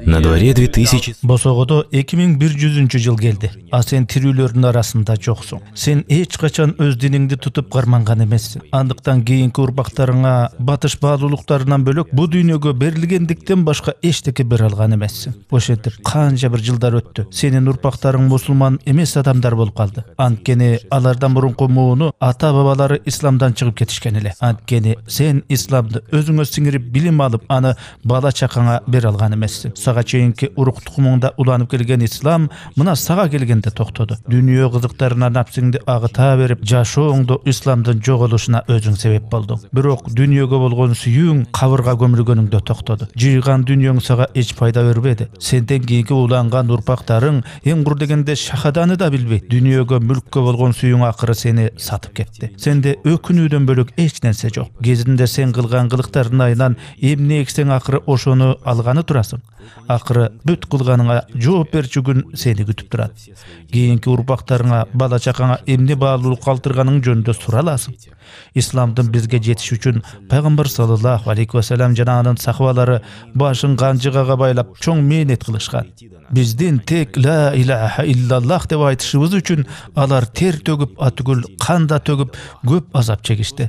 На дворе 2000. Босогодо 2100 жыл келди. А сен тирүүлөрдүн арасында жоксуң. Сен эч качан өз диниңди тутуп карманган эмессиң. Андыктан кийинки урпактарыңа батыш баалуулуктарынан бөлөк бу дүйнөгө берилгендиктен башка эчтеке бере алган эмессиң. Ошентип канча бир жылдар өттү. Сенин урпактарың мусулман эмес адамдар болуп калды. Анткени алардан мурунку мууну ата бабалары исламдан чыгып кетишкен эле. Анткени сен исламды өзүңө сиңирип билим алып, аны бала чакаңа бере алган эмессиң. Сага чейинки урук тукумуңда уланып келген ислам мына сага келгенде токтоду. Дүйнө кызыктарына напсиңди агыта берип, жашооңдо исламдын жоголушуна өзүң себеп болдуң. Бирок дүйнөгө болгон сүйүүң кабырга көмүлгөнүңдө токтоду. Жыйган дүйнөң сага эч пайда бербеди. Сенден кийинки уланган урпактарың эң кур дегенде шахаданы да билбейт. Дүйнөгө, мүлккө болгон сүйүүң акыры сени сатып кетти. Сенде өкүнүүдөн бөлөк эч нерсе жок. Кезинде сен кылган кылыктардын айынан эмне эксең акыры ошону алганы турасың. Акыры бүт кылганыңа жооп берчү күн сени күтүп турат. Кийинки урпактарыңа, бала чакаңа эмне баалуулук калтырганың жөнүндө сураласың. Исламдын бизге жетиши үчүн пайгамбар саллаллаху алейхи вассалам жана анын сахабалары башын канжыгага байлап чоң мээнет кылышкан. Биздин тек ла илаха иллаллах деп айтышыбыз үчүн алар тер төгүп, атүгүл кан да төгүп көп азап чегишти.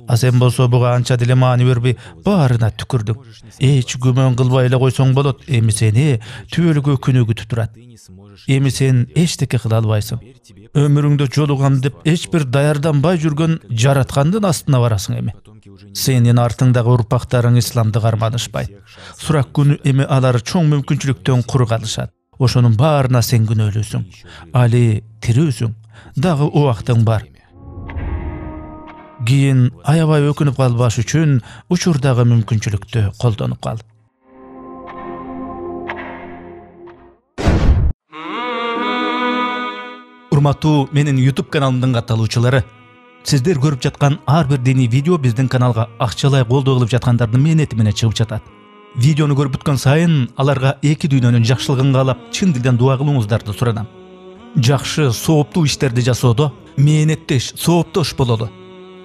А сен болсо буга анча деле маани бербей баарына түкүрдүң. Эч күмөн кылбай эле койсоң болот, эми сени түбөлүк күнү күтүп турат. Эми сен эчтеке кыла албайсың. Өмүрүңдө жолугам деп эч бир даярданбай жүргөн жараткандын астына барасың эми. Сенин артыңдагы урпактарың исламды карманышпайт. Сурак күнү эми алар чоң мүмкүнчүлүктөн кур калышат. Ошонун баарына сен күнөөлүүсүң. Али тирүүсүң. Дагы убактың бар. Кийин аябай өкүнүп калбаш үчүн учурдагы мүмкүнчүлүктү колдонуп кал. Урматтуу менин YouTube каналымдын катталуучулары, сиздер көрүп жаткан ар бир диний видео биздин каналга акчалай колдоо кылып жаткандардын мээнети менен чыгып жатат. Видеону көрүп бүткөн сайын аларга эки дүйнөнүн жакшылыгын каалап чын дилден дуа кылууңуздарды суранам. Жакшы, сооптуу иштерди жасоодо мээнеттеш, сооптош бололу.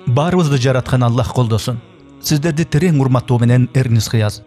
Баарыбызды жараткан Аллах колдосун. Сиздерди терең урматтоо менен Эрнис Кыяз.